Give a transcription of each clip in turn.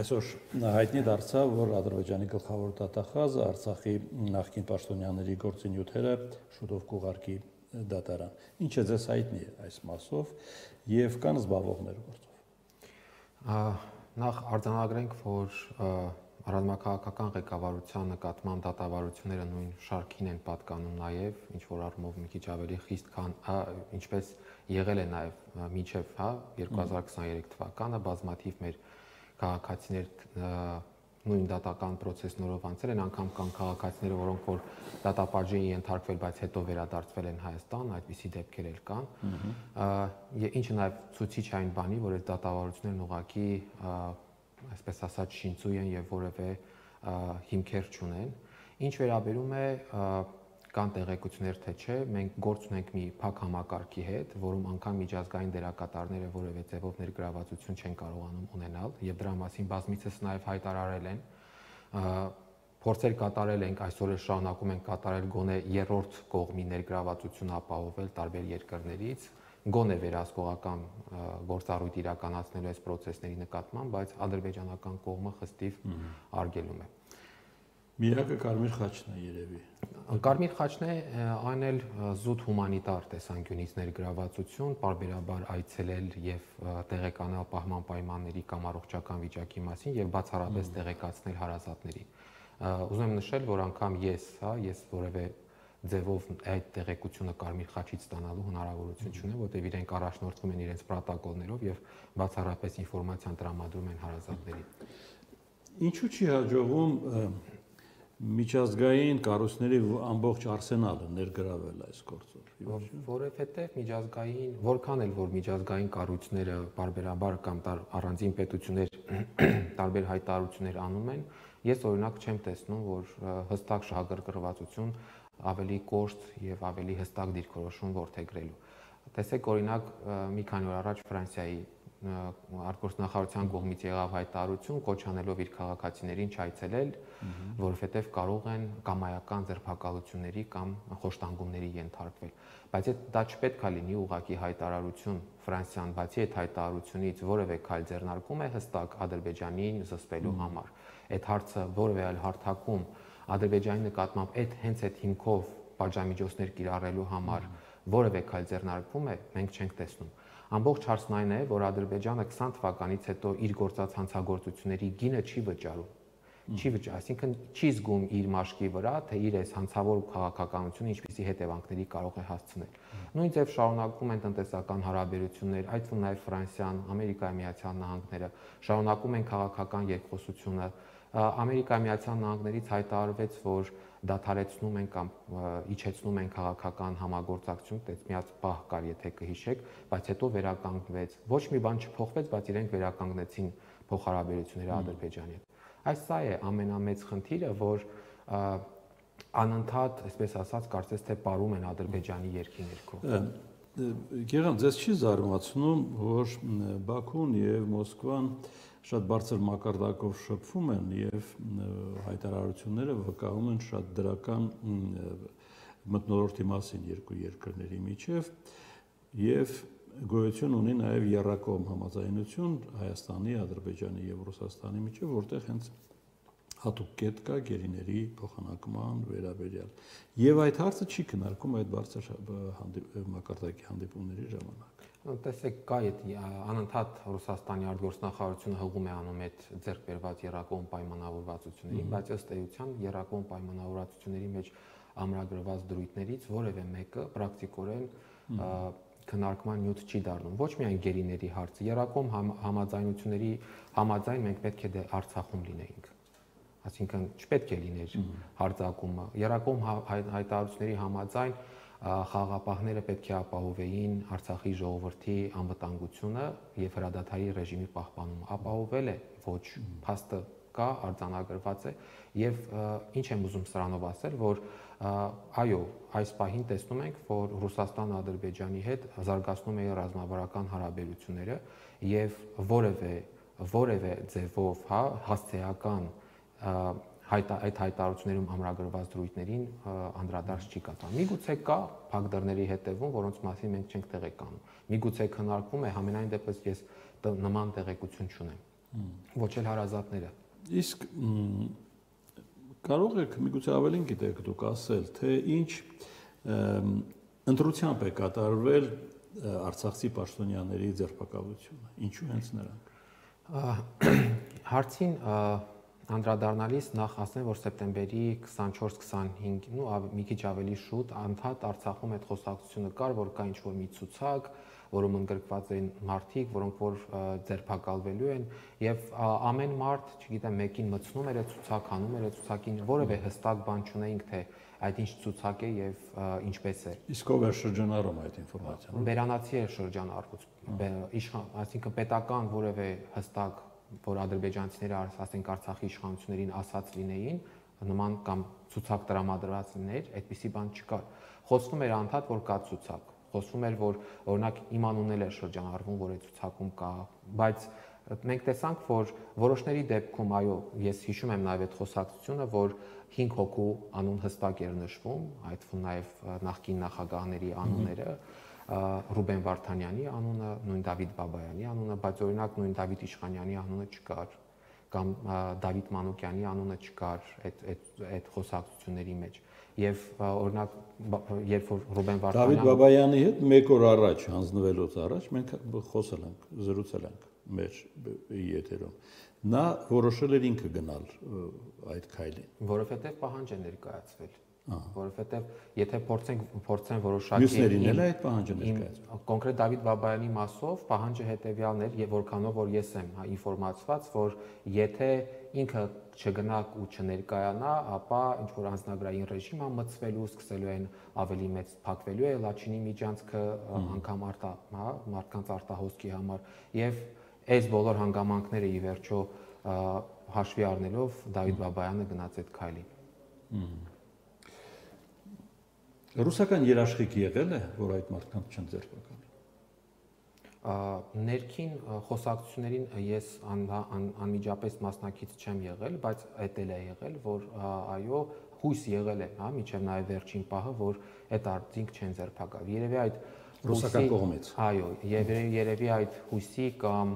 Այսօր հայտնի դարձավ, որ Ադրբեջանի գլխավոր դատախազը Արցախի նախկին պաշտոնյաների գործի նյութերը շուտով կուղարկի դատարան։ Ինչ է ձեզ հայտնի այս մասով եւ կան զբաղվողներ գործով։ Նախ արձանագրենք, որ ռազմաքաղաքական ղեկավարության նկատմամբ դատավարությունները նույն շարքին են պատկանում նաեւ, ինչ որ առումով մի քիչ ավելի խիստ, քան ինչպես եղել է նաեւ մինչեւ 2023 թվականը բազմաթիվ մեր քաղաքացիներ նույն դատական process-ներով անցել են, անգամ կան քաղաքացիներ, որոնք որ դատապարտի են ենթարկվել, բայց հետո վերադարձվել են Հայաստան, այդպիսի դեպքեր էլ կան։ Ինչը նաև ցույցիչ այն բանի, որ այդ դատավարություններն ուղղակի, այսպես ասած, շինծույ են եւ որևէ հիմքեր չունեն։ Ինչ վերաբերում է կան տեղեկություններ, թե չէ, մենք գործ ունենք մի փակ համակարգի հետ, որում անգամ միջազգային դերակատարները որևէ ձևով ներգրավվածություն չեն կարողանում ունենալ, եւ դրա մասին բազմիցս նաեւ հայտարարել են։ Փորձեր կատարել ենք, այսօր էլ շարունակում ենք կատարել գոնե երրորդ կողմի ներգրավվածություն ապահովել տարբեր երկրներից, գոնե վերահսկողական գործառույթ իրականացնելու այս process-ների նկատմամբ, բայց ադրբեջանական կողմը խստիվ արգելում է։ Միակը Կարմիր խաչն է երևի։ Կարմիր խաչն է, այն էլ զուտ հումանիտար տեսանկյունից ներգրավվածություն, պարբերաբար այցելել եւ տեղեկանալ պահման պայմանների կամ առողջական վիճակի մասին եւ բացառապես տեղեկացնել հարազատներին։ Ուզում եմ նշել, որ անգամ ես որևէ ձևով այդ տեղեկությունը Կարմիր խաչից ստանալու հնարավորություն չունեմ, որտեղ իրենք առաջնորդվում են իրենց պրոտոկոլներով եւ բացառապես ինֆորմացիան տրամադրում են հարազատներին։ Ինչու՞ չի հաջողում միջազգային կառույցների ամբողջ արսենալը ներգրավել այս գործով։ Որովհետև միջազգային, որքան էլ որ միջազգային կառույցները բարբերաբար կամ առանձին պետություններ տարբեր հայտարարություններ անում են, ես օրինակ չեմ տեսնում, որ հստակ շահագրգռվածություն ավելի կոշտ եւ ավելի հստակ դիրքորոշում որդեգրելու։ Տեսեք օրինակ մի քանի օր առաջ Ֆրանսիայի արտգործնախարարության կողմից եղավ հայտարարություն կոչ անելով իր քաղաքացիներին չայցելել, որովհետև կարող են կամայական ձերբակալությունների կամ խոշտանգումների ենթարկվել։ Բայց դա չպետք է լինի ուղղակի հայտարարություն Ֆրանսիան, բացի այդ հայտարարությունից որևէ քայլ ձեռնարկում է հստակ Ադրբեջանին զսպելու համար։ Այդ հարցը որևէ այլ հարթակում Ադրբեջանի նկատմամբ հենց այդ հիմքով պատժամիջոցներ կիրառելու համար որևէ քայլ ձեռնարկվում է, մենք չենք տեսնում։ Ամբողջ հարցն այն է, որ Ադրբեջանը 20 թվականից հետո իր գործած հանցագործությունների գինը չի վճարում։ Այսինքն չի զգում իր մաշկի վրա, թե իր այս հանցավոր քաղաքականությունը ինչպիսի հետևանքների կարող է հասցնել։ Նույն ձև շարունակվում են տնտեսական հարաբերություններ, այդ թվում նաև Ֆրանսիան, Ամերիկայի Միացյալ Նահանգները շարունակում են քաղաքական երկխոսությունը։ Ամերիկայի Միացյալ Նահանգներից հայտարարվեց, որ դադարեցնում են կամ իջեցնում են քաղաքական համագործակցություն, այդպես միած պահ կար, եթե կհիշեք, բայց հետո վերականգնվեց։ Ոչ մի բան չփոխվեց, բայց իրենք վերականգնեցին փոխհարաբերությունները Ադրբեջանի հետ։ Այս սա է ամենամեծ խնդիրը, որ անընդհատ, այսպես ասած, կարծես թե պարում են Ադրբեջանի երկի ներքո։ Գեղամ, ձեզ չի զարմացնում, որ Բաքուն եւ Մոսկվան շատ բարձր մակարդակով շփվում են եւ հայտարարությունները վկայում են շատ դրական մթնոլորտի մասին երկու երկրների միջև եւ գոյություն ունի նաեւ եռակողմ համաձայնություն Հայաստանի, Ադրբեջանի եւ Ռուսաստանի միջև, որտեղ հենց հատուկ կետ կա գերիների փոխանակման վերաբերյալ։ Եվ այդ հարցը չի քննարկում այդ բարձր մակարդակի հանդիպումների ժամանակ։ Տեսեք, կա այդ անընդհատ Ռուսաստանի արտգործնախարարությունը հղում է անում այդ ձեռք բերված եռակողմ պայմանավորվածություններին, բայց ըստ էության եռակողմ պայմանավորվածությունների մեջ ամրագրված դրույթներից որևէ մեկը պրակտիկորեն քննարկման նյութ չի դառնում։ Ոչ միայն գերիների հարցը, եռակողմ համաձայնությունների համաձայն մենք պետք է Արցախում լինեինք։ Այսինքն չպետք է լիներ հարձակումը։ Եռակողմ հայտարարությունների համաձայն խաղաղապահները պետք է ապահովեին Արցախի ժողովրդի անվտանգությունը եւ հրադադարի ռեժիմի պահպանումը։ Ապահովել է, ոչ, փաստը կա, արձանագրված է եւ ինչ եմ ուզում սրանով ասել, որ այո, այս պահին տեսնում ենք, որ Ռուսաստանը Ադրբեջանի հետ զարգացնում է ռազմավարական հարաբերությունները եւ որևէ ձևով, հասցեական այդ հայտարարություններում ամրագրված դրույթներին անդրադարձ չի կատարվում։ Միգուցե կա փակ դռների հետևում, որոնց մասին մենք չենք տեղեկանում։ Միգուցե քննարկվում է, համենայն դեպս ես նման տեղեկություն չունեմ։ ոչ էլ հարազատները։ Իսկ կարող եք միգուցե ավելին գիտեք դուք ասել, թե ինչ ընտրությամբ է կատարվել Արցախցի պաշտոնյաների ձերբակալությունը, ինչու հենց նրանք։ Հարցին անդրադառնալիս նախ ասեմ, որ սեպտեմբերի 24-25, մի քիչ ավելի շուտ անդադ Արցախում այդ խոսակցությունը կար, որ կա ինչ-որ մի ցուցակ, որում ընդգրկված են մարդիկ, որոնք որ ձերբակալվելու են, եւ ամեն մարդ, չգիտեմ, մեկին մտցնում էր այդ ցուցակ, հանում էր այդ ցուցակին, որևէ հստակ բան չունեինք, թե այդ ինչ ցուցակ է եւ ինչպես է։ Իսկ ով է շրջանառում այդ ինֆորմացիան։ Բերանացի է շրջանառվում, այսինքն պետական որևէ հստակ, որ ադրբեջանցիները, ասենք Արցախի իշխանություններին ասած լինեին, նման կամ ցուցակ տրամադրված լիներ, այդպիսի բան չկար։ Խոսվում էր անդադ, որ կա ցուցակ, խոսվում էր, որ օրինակ իմ անունն էլ է շրջանառվում, որ այդ ցուցակում կա, բայց մենք տեսանք, որ որոշների դեպքում, այո, ես հիշում եմ նաև այդ խոսակցությունը, որ 5 հոգու անուն հստակ էր նշվում, այդ թվում նաև նախկին նախագահների անունները, Ռուբեն Վարդանյանի անունը, նույն Դավիթ Բաբայանի անունը, բայց օրինակ նույն Դավիթ Իշխանյանի անունը չկար, կամ Դավիթ Մանուկյանի անունը չկար այդ խոսակցությունների մեջ։ Եվ օրինակ, երբ որ Ռուբեն Վարդանյանը Դավիթ Բաբայանի հետ մեկ օր առաջ, հանձնվելուց առաջ մենք խոսել ենք, զրուցել ենք մեր եթերում։ Նա որոշել էր ինքը գնալ այդ քայլին, որովհետև պահանջ է ներկայացվել, որովհետև եթե փորձեն որոշակի մյուսներին էլ այդ պահանջը ներկայացվել։ Կոնկրետ Դավիթ Բաբայանի մասով պահանջը հետևյալն էր, եւ որքանով որ ես եմ ինֆորմացված, որ եթե ինքը չգնա ու չներկայանա, ապա ինչ որ անձնագրային ռեժիմը մտցվելու, սկսելու են ավելի մեծ փակվելու է Լաչինի միջանցքը անգամ մարդկանց արտահոսքի համար եւ այս բոլոր հանգամանքները ի վերջո հաշվի առնելով Դավիթ Բաբայանը գնաց այդ քայլին։ Ռուսական երաշխիք եղել է, որ այդ մարդկանց չեն ձերբակալի։ Ներքին խոսակցություններին ես անմիջապես մասնակից չեմ եղել, բայց այդ էլ է եղել, որ այո, հույս եղել է, մինչև նաև վերջին պահը, որ այդ արդյունք չեն ձերբակալ։ Երևի այդ ռուսական կողմից։ Այո, երևի այդ հույսի կամ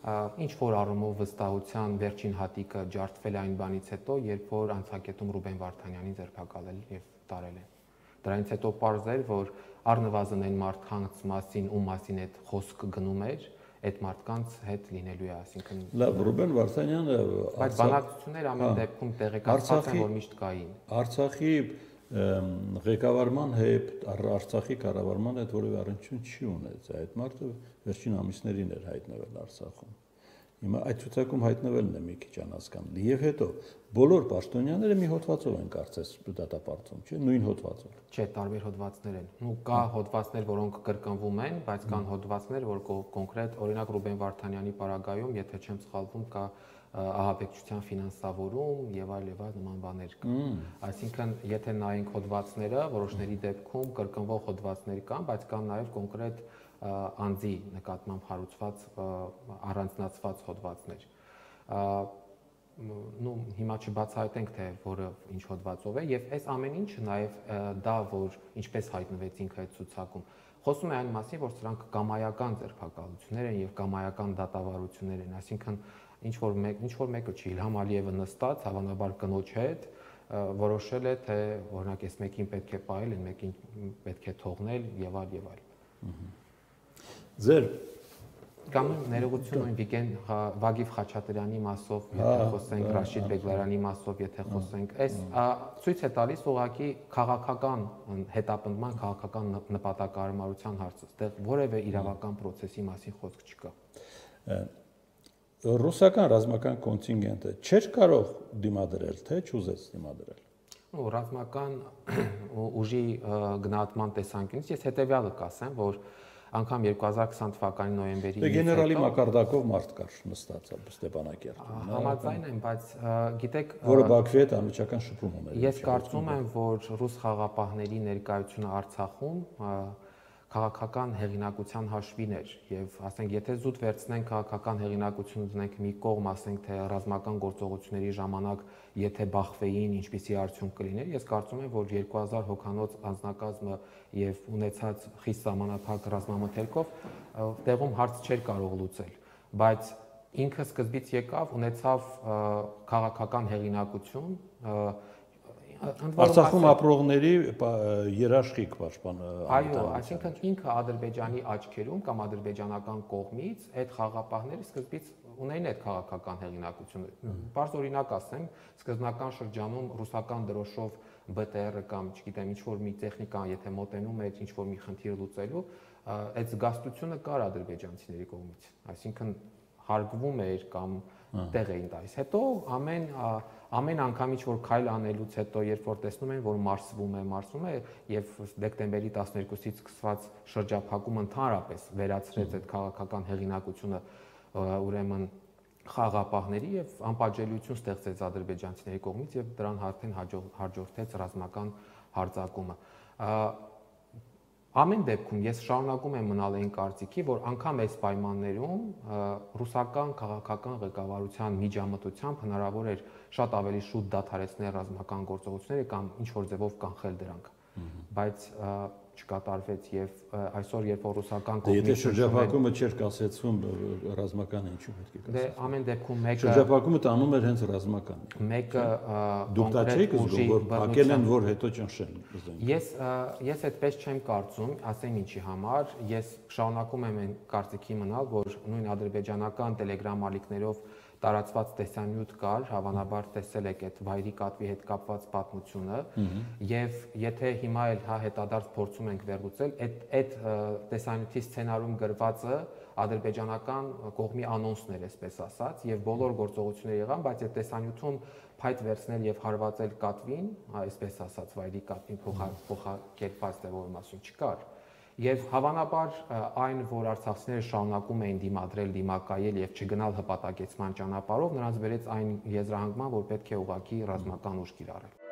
ինչ որ առումով վստահության վերջին հատիկը ջարդվել այն բանից հետո, երբ որ անցակետում Ռուբեն Վարդանյանին ձերբակալել եւ տարել են։ Դրանից հետո պարզ էր, որ առնվազն այն մարդկանց մասին, ում մասին այդ խոսքը գնում էր, այդ մարդկանց հետ լինելու է, այսինքն Լավ, Ռուբեն Վարդանյանը, բայց բանակցություններ ամեն դեպքում տեղեկացված են, որ միշտ կային։ Արցախի ղեկավարման հետ, Արցախի կառավարման հետ որևէ առնչություն չի ունեցել։ Այդ մարդը վերջին ամիսներին էր հայտնվել Արցախում։ Հիմա այդ ցուցակում հայտնվելն է մի քիչ անհասկանալի։ Եվ հետո բոլոր պաշտոնյաները մի հոդվածով են կարծես դատապարտվում, չէ՞, նույն հոդվածով։ Չէ, տարբեր հոդվածներ են։ Ու կա հոդվածներ, որոնք կրկնվում են, բայց կան հոդվածներ, որ կոնկրետ, օրինակ Ռուբեն Վարդանյանի պարագայում, եթե չեմ սխալվում, կա ահաբեկչության ֆինանսավորում եւ այլ նման բաներ կան։ Այսինքն, եթե նայենք հոդվածները, որոշների դեպքում կրկնվող հոդվածներ կան, բայց կան նաեւ կոնկրետ անձի նկատմամբ հարուցված առանձնացված հոդվածներ։ Հիմա չբացահայտենք, թե որը ինչ հոդվածով է, եւ այս ամեն ինչը նաեւ դա, որ ինչպես հայտնվեցինք այդ ցուցակում, խոսում է այն մասին, որ սրանք կամայական ձերբակալություններ են եւ կամայական դատավարություններ են, այսինքն ինչ որ մեկը չի, Իլհամ Ալիևը նստած, հավանաբար կնոջ հետ որոշել է, թե օրինակ այս մեկին պետք է պահել, այն մեկին պետք է թողնել եւ այլ։ Ձեր կամ ներողություն Վիգեն Վագիվ Խաչատրյանի մասով, եթե խոսենք Ռաշիդ Բեգլարյանի մասով, եթե խոսենք, այս ցույց է տալիս ուղղակի քաղաքական հետապնդման, քաղաքական նպատակահարմարության հարցը, այդտեղ որևէ իրավական process-ի մասին խոսք չկա։ Ռուսական ռազմական կոնտինգենտը չէր կարող դիմադրել, թե չուզեց դիմադրել։ Ռազմական ուժի գնահատման տեսանկյունից ես հետեւյալը կասեմ, որ անգամ 2020 թվականի նոյեմբերի 9-ին գեներալի մակարդակով մարդ կար նստած Ստեփանակերտում։ Համաձայն եմ, բայց գիտեք, որը Բաքվի հետ անմիջական շփում ուներ։ Ես կարծում եմ, որ ռուս խաղապահների ներկայությունը Արցախում քաղաքական հեղինակության հաշվին էր եւ ասենք եթե զուտ վերցնենք քաղաքական հեղինակությունը դնենք մի կողմ, ասենք թե ռազմական գործողությունների ժամանակ եթե բախվեին ինչպիսի արդյունք կլիներ, ես կարծում եմ, որ 2000 հոգանոց անձնակազմը եւ ունեցած խիստ սահմանափակ ռազմամթերքով տեղում հարց չէր կարող լուծել, բայց ինքը սկզբից եկավ, ունեցավ քաղաքական հեղինակություն, Արցախում ապրողների երաշխիք պաշտպան։ Այո, այսինքն ինքը Ադրբեջանի աչքերում կամ ադրբեջանական կողմից այդ խաղապահները սկզբից ունեին այդ քաղաքական հեղինակությունը։ Բարձ օրինակ ասեմ, սկզբնական շրջանում ռուսական դրոշով BTR-ը կամ, չգիտեմ, ինչ-որ մի տեխնիկան, եթե մոտենում էր ինչ-որ մի խնդիր լուծելու, այդ զգաստությունը կար ադրբեջանցիների կողմից։ Այսինքն հարգվում էր կամ տեղ էին տալիս։ Հետո ամեն անգամ ինչ-որ քայլ անելուց հետո, երբ որ տեսնում են, որ մարսվում է եւ դեկտեմբերի 12-ից սկսված շրջափակումը ընդհանրապես վերացրեց այդ քաղաքական հեղինակությունը, ուրեմն խաղապահների եւ անպատժելիություն ստեղծեց ադրբեջանցիների կողմից եւ դրան արդեն հաջորդեց ռազմական հարձակումը։ Ամեն դեպքում ես շարունակում եմ մնալ այն կարծիքի, որ անգամ այս պայմաններում ռուսական քաղաքական ղեկավարության միջամտությամբ հնարավոր էր շատ ավելի շուտ դադարեցնել ռազմական գործողությունները կամ ինչ-որ ձևով կանխել դրանք, բայց չկատարվեց եւ այսօր երբ որ ռուսական կողմից եթե շրջափակումը չէր կասեցվում ռազմական ինչու պետք է կասեցվի։ Դե ամեն դեպքում մեկը շրջափակումը տանում էր հենց ռազմական։ Մեկը դուք դա չեք զգում, որ փակել են, որ հետո ճնշեն։ Ես այդպես չեմ կարծում, ասեմ ինչի համար, ես շարունակում եմ այն կարծիքի մնալ, որ նույն ադրբեջանական Telegram ալիքներով տարածված տեսանյութ կար, հավանաբար տեսել եք այդ վայրի կատվի հետ կապված պատմությունը, եւ եթե հիմա էլ հետադարձ փորձում ենք վերլուծել, այդ տեսանյութի սցենարում գրվածը ադրբեջանական կողմի անոնսն էր, այսպես ասած, եւ բոլոր գործողությունները եղան, բայց այդ տեսանյութում փայտ վերցնել եւ հարվածել կատվին, այսպես ասած, վայրի կատվին փոխակերպած դեպքում ասում չկար։ Եվ հավանաբար այն, որ արցախցիները շարունակում էին դիմադրել, դիմակայել եւ չգնալ հպատակեցման ճանապարհով, նրանց բերեց այն եզրահանգման, որ պետք է ուղղակի ռազմական ուժ կիրառել։